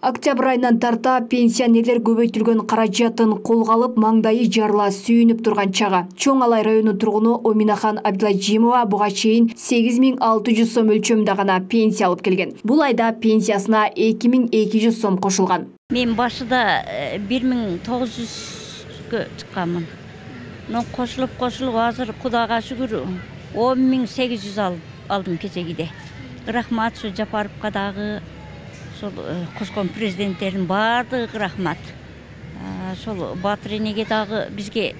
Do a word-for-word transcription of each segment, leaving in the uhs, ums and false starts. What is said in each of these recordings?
Октябрь айынан тарта пенсионерлер көбөйтүлгөн каражатын колго алып маңдайы жарыла сүйүнүп турган чагы. Чоң Алай районунун тургуну Оминахан Абдыладжимова буга чейин сегиз миң алты жүз сом өлчөмүндө гана пенсия алып келген. Бул айда пенсиясына эки миң эки жүз сом кошулган. Мен башында бир миң тогуз жүзгө чыкканмын. Но кошулуп кошулуп азыр Кудайга шүгүр он миң сегиз жүз алдым кечегиде. Рахмат ушу Жапаровго дагы, кошкон президенттердин баардыгы рахмат. Ошол Батыр энеге дагы бизге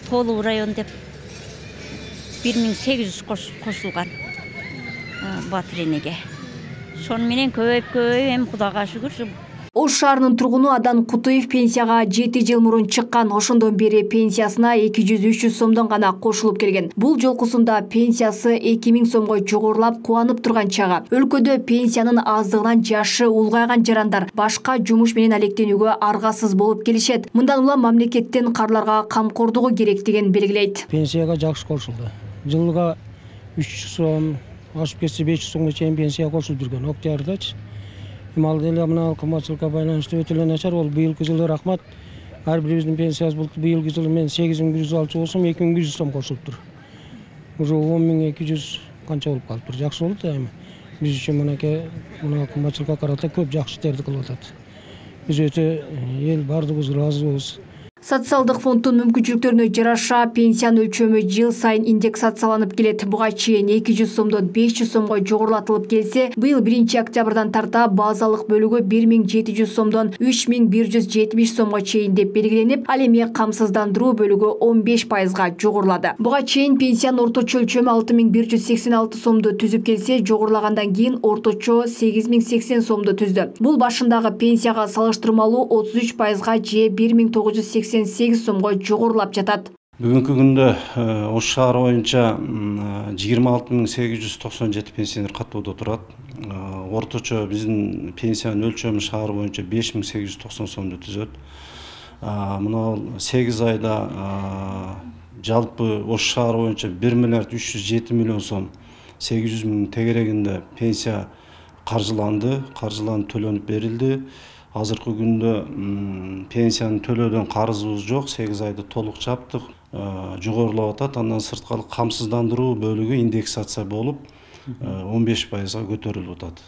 толук район деп бир миң сегиз жүз кошулган Батыр энеге. Шону менен көбөйүп көбөйүп эми Кудайга шүгүр. Ош шаарынын тургуну Адан Кутуев пенсияга жети жыл мурун чыккан. Ошондон бери пенсиясына эки жүз үч жүз сомдон гана кошулуп келген. Бул жолкусунда пенсиясы эки миң сомго жогорулап кубанып турган чагы. Өлкөдө пенсиянын аздыгынан жашы улгайган жарандар башка жумуш менен алектенүүгө аргасыз болуп келишет. Мындан улам мамлекеттин карларга камкордугу керектигин белгилейт. Пенсияга жакшы кошулду. Жылга үч жүз сом, ашып кетсе беш жүз сомго чейин пенсия кошулуп жүргөн. Октябрдачы. Мал деле мына кымбатчылыкка байланыштуу өтө эле начар. Ол быйылкы жылы рахмат. Ар бирибиздин пенсиясы болуп быйылкы жылы мен сегиз миң бир жүз алчу болсом эки миң бир жүз сом кошулуптур. Уже он миң эки жүз канча болуп калыптыр. Жакшы болду да эми. Биз үчүн мынакей мына кымбатчылыкка карата көп жакшы иштерди кылып атат. Биз өтө эл бардыгыбыз ыраазыбыз. Социалдык фонддун мүмкүнчүлүктөрүнө жараша пенсиянын өлчөмү жыл сайын индексацияланып келет. Буга чейин эки жүз сомдон беш жүз сомго жогорулатылып келсе, быйыл биринчи октябрдан тарта базалык бөлүгү бир миң жети жүз сомдон үч миң бир жүз жетимиш сомго чейин деп белгиленип, ал эми камсыздандыруу бөлүгү он беш пайызга жогорулады. Буга чейин пенсиянын орточо өлчөмү алты миң бир жүз сексен алты сомду түзүп келсе, жогорулагандан кийин орточо сегиз миң сексен сомду түздү. Бул башындагы пенсияга салыштырмалуу отуз үч пайызга же бир миң тогуз жүз сексен сегиз сомго жогорулап жатат. Бүгүнкү күндө Ош шаары боюнча жыйырма алты миң сегиз жүз токсон жети пенсионер каттоодо турат. Орточо биздин пенсиянын өлчөмү шаар боюнча беш миң сегиз жүз токсон сомду түзөт. Мына сегиз айда жалпы Ош шаары боюнча бир миллиард үч жүз жети миллион сом сегиз жүз миң тегерегинде пенсия каржыланды, каржыланып төлөнүп берилди. Азыркы күндө пенсияны төлөөдөн карызыбыз жок, сегиз айды толук жаптык, жогорулап атат. Андан сырткары камсыздандыруу бөлүгү индексация болуп он беш пайызга көтөрүлүп атат.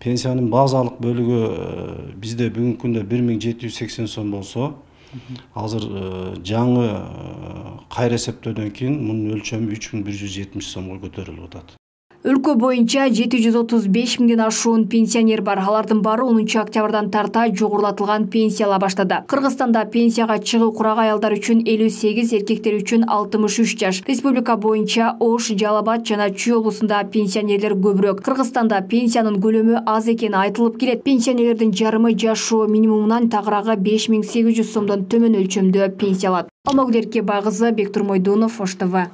Пенсиянын базалык бөлүгү бизде бүгүнкү күндө бир миң жети жүз сексен сом болсо, азыр жаңы кайра эсептөөдөн кийин мунун өлчөмү үч миң бир жүз жетимиш сомго көтөрүлүп атат. Өлкө боюнча жети жүз отуз беш миңден ашуун пенсионер бар. Алардын баары онунчу октябрдан тарта жогорулатылган пенсия ала баштады. Кыргызстанда пенсияга чыгуу курагы аялдар үчүн элүү сегиз, эркектер үчүн алтымыш үч жаш. Республика боюнча Ош, Жалал Абад жана Чүй облусунда пенсионерлер көбүрөөк. Кыргызстанда пенсиянын көлөмү аз экени айтылып келет. Пенсионерлердин жарымы жашоо минимумунан тагыраагы беш миң сегиз жүз сомдон төмөн өлчөмдө пенсия алат. Алмагүл Эркебай кызы, Бектур Мойдунов, Ош ТВ.